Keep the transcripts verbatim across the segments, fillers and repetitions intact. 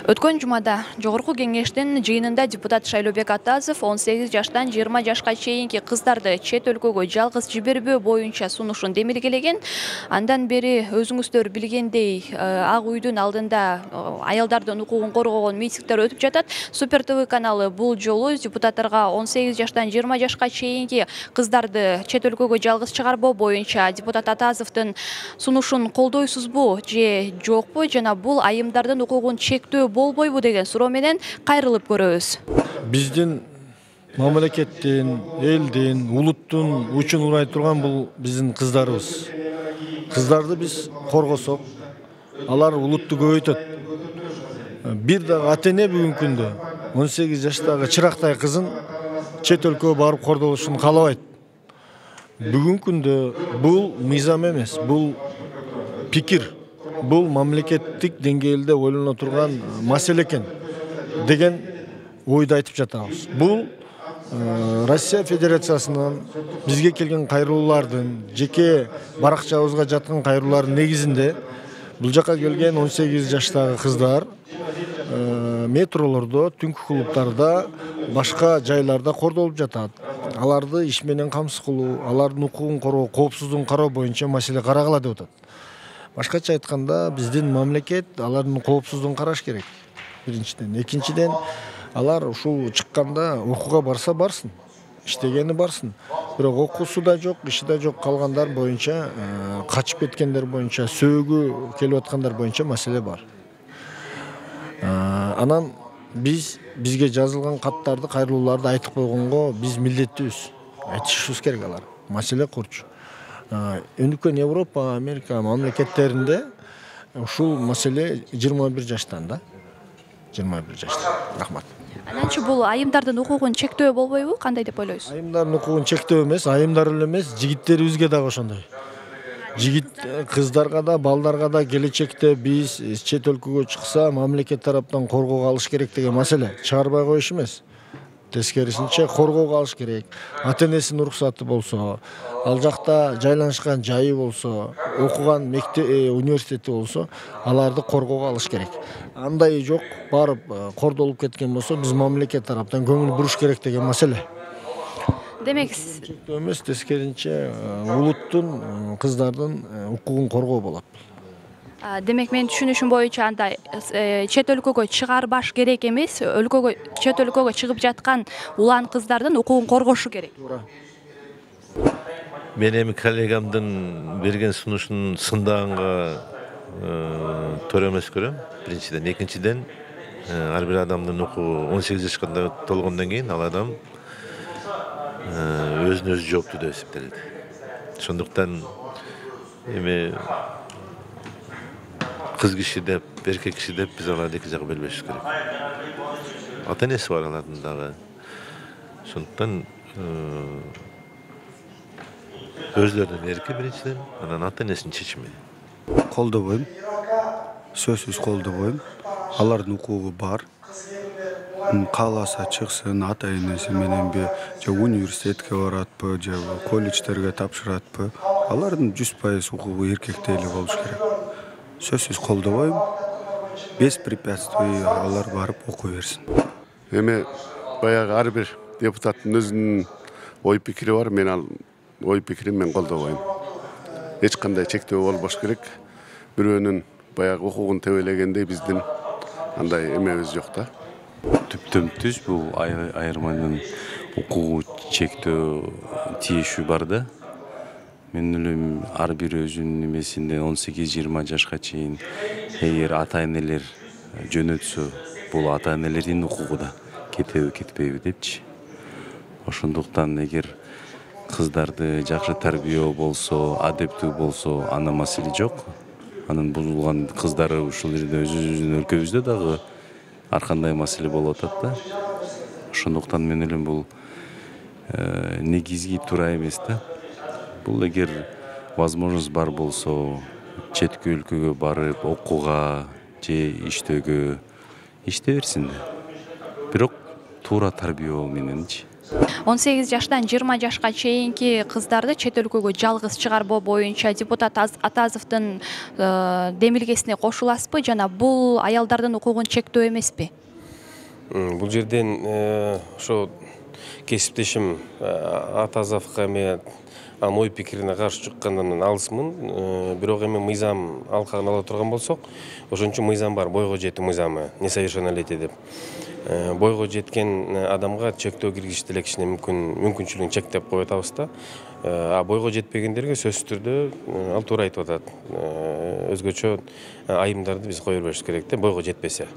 Өткөн жумада Жогорку кеңештин жыйынында депутат Шайлообек Атазов он сегиз жаштан жыйырма жашка чейинки кыздарды чет өлкөгө жалгыз жибербөө боюнча сунушун демилгелеген. Андан бери өзүңүздөр билгендей, Ак үйдүн алдында аялдардын укугун коргогон митингдер өтүп жатат. Супер ТВ каналы бул жолу депутаттарга он сегиз жаштан жыйырма жашка чейинки кыздарды чет өлкөгө жалгыз чыгарбоо боюнча депутат Атазовдун сунушун колдойсузбу же жокпу, жана бул айымдардын укугун чектөө болбойбу деген суроо менен кайрылып көрөбүз. Биздин мамлекеттин, элдин, улуттун учун урай турган бул биздин кыздарыбыз. Кыздарды биз коргосок, алар улутту көбөйтөт. Бир дагы ата-эне бүгүнкү күндө он сегиз жаштагы чырактай кызын чет өлкөгө барып кордолушун каалабайт. Бүгүнкү күндө бул мыйзам эмес, бул пикир, бул мамлекеттик деңгээлде ойлоно турган маселе экен деген ойду айтып жатабыз. Бул Россия Федерациясынын бизге келген кайрылуулардын, жеке баракчабызга жаткан кайрылуулардын негизинде бул жака келген он сегиз жаштагы кыздар метролордо, түнкү клубтарда, башка жайларда кордолуп жатат. Аларды иш менен камсыз кылуу, алардын укугун коргоо, коопсуздугун кароо боюнча маселе карагыла деп атат. Башкача айтканда, биздин мамлекет алардын коопсуздугун караш керек. Биринчиден, экинчиден, алар ушул чыкканда окууга барса барсын, иштегени барсын. Бирок окуусу да жок, иши да жок калгандар боюнча, качып кеткендер боюнча, сөөгү келип аткандар боюнча маселе бар. Анан биз бизге жазылган каттарды, кайрылууларды айтып койгонго биз милдеттүүбүз. Айтышыбыз керек алар. Маселе курчу. Өнүккөн Европа, Америка мамлекеттеринде ушул маселе жыйырма бир жаштан да. жыйырма бир жаштан. Рахмат. Ананчы бул айымдардын укугун чектөө болбойбу? Кандай деп ойлойсуз? Айымдардын укугун чектөө эмес, айымдар эле эмес, жигиттерибизге дагы ошондой. Жигит кыздарга да, балдарга да келечекте биз чет өлкөгө чыкса, мамлекет тараптан коргоого алыш керек деген маселе. Чыгарбай коюш эмес. Тескерисинче коргоого алыш керек. Ата-энесинин уруксаты болсо, ал жакта жайланышкан жайы болсо, окуган мектеп, университети болсо, аларды коргоого алыш керек. Андай жок, барып кордолуп кеткен болсо, биз мамлекет тараптан көңүл буруш керек деген маселе. Демек, эмес, тескерисинче улуттун, кыздардын укугун коргоо болот. Демек, мен түшүнүшүм боюнча анда чет өлкөгө чыгарбаш керек эмес, өлкөгө чет өлкөгө чыгып жаткан улан кыздардын укугун коргошу керек. Мен эми коллегамдын берген сунушун сындаганга туура эмес көрөм. Биринчиден, экинчиден, ар бир адамдын укугу он сегиз жашка толгондон кийин ал адам өзүнө өзү жооптуу деп эсептелет. Ошондуктан эми кыз киши деп, эркек киши деп биз аларды эки жакка бөлбөшүбүз керек. Ата-энеси бар алардын дагы. Ошондуктан өзлөрүнүн эрки биринчиден, анан ата-энесинин чечими. Колдобойм. Сөзсүз колдобойм. Алардын укугу бар. Кааласа чыксын, ата-энеси мененби, же университетке баратпы, же колледждерге тапшыратпы, алардын жүз пайыз укугу эркекте эле болуш керек. Сөзсүз колдобойм. Без препятствий алар барып окуй берсин. Эми баягы ар бир депутаттын өзүнүн ой пикири бар, мен ал ой пикирин мен колдобойм. Эч кандай чектөө болбош керек. Бирөөнүн баягы укугун тебелегендей биздин андай эмебиз жок да. Түптөн түз бул айырманын укугу чектөө тиешүү бар да. Мен ойлойм, ар бир өзүнүн немесинде он сегиз жыйырма жашка чейин эгер ата-энелер жөнөтсө, бул ата-энелердин укугу да кетеби, кетпейби депчи. Ошондуктан эгер кыздарды жакшы тарбиялоо болсо, адептүү болсо, анда маселе жок. Анын бузулган кыздары ушул жерде өзүбүздүн өлкөбүздө дагы ар кандай маселе болуп атат да. Ошондуктан мен ойлойм, бул негизги туура эмес да. Бул эгер возможность бар болсо, четки өлкөгө барып окууга же иштөөгө иште берсин да. Бирок туура тарбиялоо мененчи. он сегиз жаштан жыйырма жашка чейинки кыздарды чет өлкөгө жалгыз чыгарбоо боюнча депутат Атазовдун демилгесине кошуласызбы жана бул аялдардын укугун чектөө эмеспи? Бул жерден ошо кесиптешим Атазовго эме анын ой пикирине каршы чыккандан алысмын. Бирок эми мыйзам алкагын ала турган болсок, ошон үчүн мыйзам бар, бойго жетүү мыйзамы, несовершеннолетие деп. Бойго жеткен адамга чектөө киргизиш делекчине мүмкүн мүмкүнчүлүгүн чектеп коюп атабыз да. А бойго жетпегендерге сөзсүз түрдө ал туура айтып атат. Өзгөчө айымдарды биз кое беришибиз керек да, бойго жетпесе.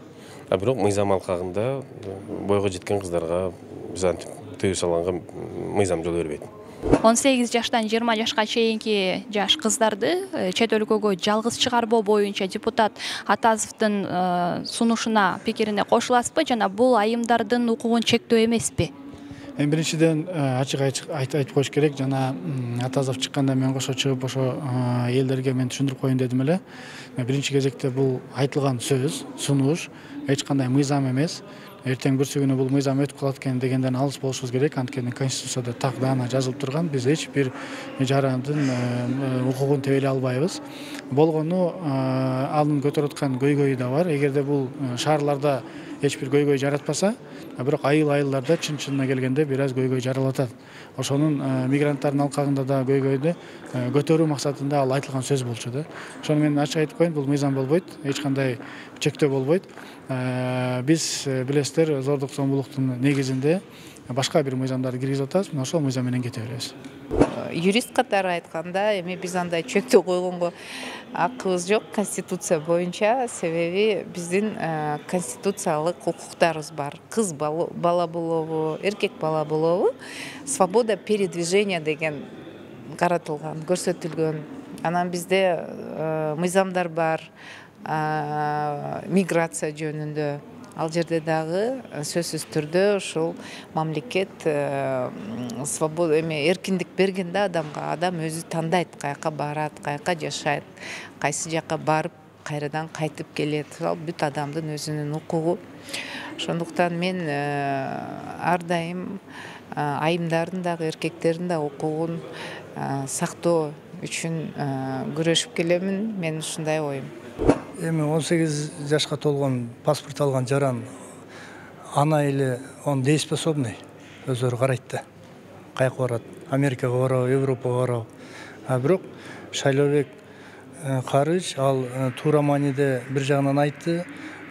А бирок мыйзам алкагында бойго жеткен кыздарга биз антип тыюу салганга мыйзам жол бербейт. он сегиз жаштан жыйырма жашка чейинки жаш кыздарды чет өлкөгө жалгыз чыгарбоо боюнча депутат Атазовдун сунушуна, пикирине кошуласызбы жана бул айымдардын укугун чектөө эмеспи? Эми биринчиден ачык айтып коюш керек, жана Атазов чыкканда мен кошо чыгып ошо элдерге мен түшүндүрүп коеюн дедим эле. Биринчи кезекте бул айтылган сөз, сунуш эч кандай мыйзам эмес. Эртең бүрсү күнү бул мыйзам өтүп калат экен дегенден алыс болушубуз керек. Анткени Конституцияда так даана жазылып турган, биз эч бир жарандын укугун тебелей албайбыз. Болгону анын көтөрүп аткан көйгөйү да бар. Эгерде бул шаарларда эч бир көйгөй жаратпаса, бирок айыл-айылдарда чын-чынына келгенде бир аз көйгөй жаралатат. Ошонун мигранттардын алкагында да көйгөйдү көтөрүү максатында ал айтылган сөз болчу да. Ошону мен ачык айтып коеюн, бул мыйзам болбойт, эч кандай чектөө болбойт. Биз билесиздер, зордук зомбулуктун негизинде башка бир мыйзамдарды киргизип атабыз, мына ошол мыйзам менен кете беребиз. Юрист катары айтканда, эми биз андай чектөө койгонго акыбыз жок Конституция боюнча, себеби биздин конституциялык укуктарыбыз бар. Кыз бала болобу, эркек бала болобу, свобода передвижения деген каратылган, көрсөтүлгөн. Анан бизде мыйзамдар бар, миграция жөнүндө. Ал жерде дагы сөзсүз түрдө ушул мамлекет свобода эме эркиндик берген да адамга. Адам өзү тандайт, каяка барат, каяка жашайт, кайсы жака барып, кайрадан кайтып келет. Ал бүт адамдын өзүнүн укугу. Ошондуктан мен ар дайым айымдардын дагы эркектердин да укугун сактоо үчүн күрөшүп келемин. Мен ушундай оюм. Эми он сегиз жашка толгон паспорт алган жаран ана эле он дееспособный өздөрү карайт да. Каяка барат? Америкага барабы, Европага барабы? А бирок Шайлообек Карыч ал туура мааниде бир жагынан айтты.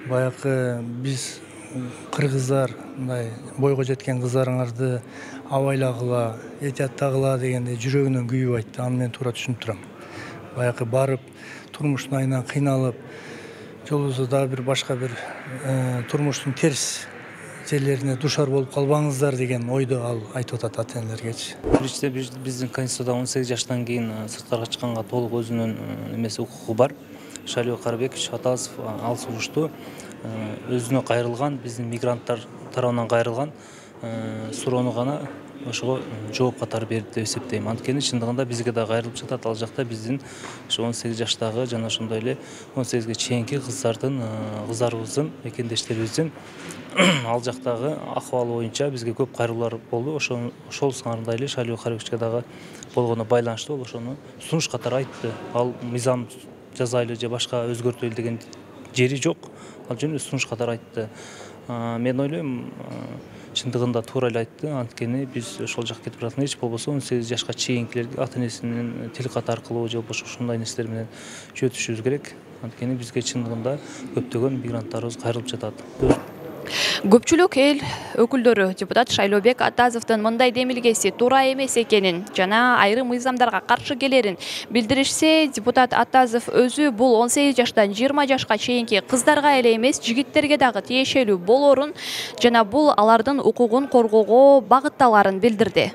Баягы биз кыргыздар мындай бойго жеткен кыздарыңарды абайлагыла, этияттагыла дегенде жүрөгүнөн күйүп айтты. Аны мен туура түшүнүп турам. Баягы барып турмуштун айынан кыйналып, жолубузда дагы бир башка бир турмуштун терс жерлерине душар болуп калбаңыздар деген ойду ал айтып атат ата-энелергечи. Биринчиден биздин Конституцияда он сегиз жаштан кийин сырткарга чыкканга толук өзүнүн эмеси укугу бар. Шайлообек Карыбекович Атазов ал сунушту өзүнө кайрылган, биздин мигранттар тарабынан кайрылган суроону гана ошого жооп катары берди деп эсептейм. Анткени чындыгында бизге да кайрылып жатат. Ал жакта биздин ошо он сегиз жаштагы жана ошондой эле он сегизге чейинки кыздардын, кыздарыбыздын, экендештерибиздин ал жактагы акыбалы боюнча бизге көп кайрылуулар болду. Ошол ошол сыңарында эле Шайлообек Карыбековичке дагы болгону байланыштуу ол ошону сунуш катары айтты. Ал мыйзам жазайлы же башка өзгөртөлү деген жери жок. Ал жөн сунуш катары айтты. Мен ойлойм, чындыгында туура эле айтты. Анткени биз ошол жакка кетип баратканда эч болбосо он сегиз жашка чейинкилерге ата-энесинин тил кат аркылуу же болбосо ушундай нерселер менен жөнөтүшүбүз керек. Анткени бизге чындыгында көптөгөн мигранттарыбыз кайрылып жатат. Көпчүлүк эл өкүлдөрү депутат Шайлообек Атазовдун мындай демилгеси туура эмес экенин жана айрым мыйзамдарга каршы келерин билдиришсе, депутат Атазов өзү бул он сегиз жаштан жыйырма жашка чейинки кыздарга эле эмес, жигиттерге дагы тиешелүү болорун жана бул алардын укугун коргоого багытталарын билдирди.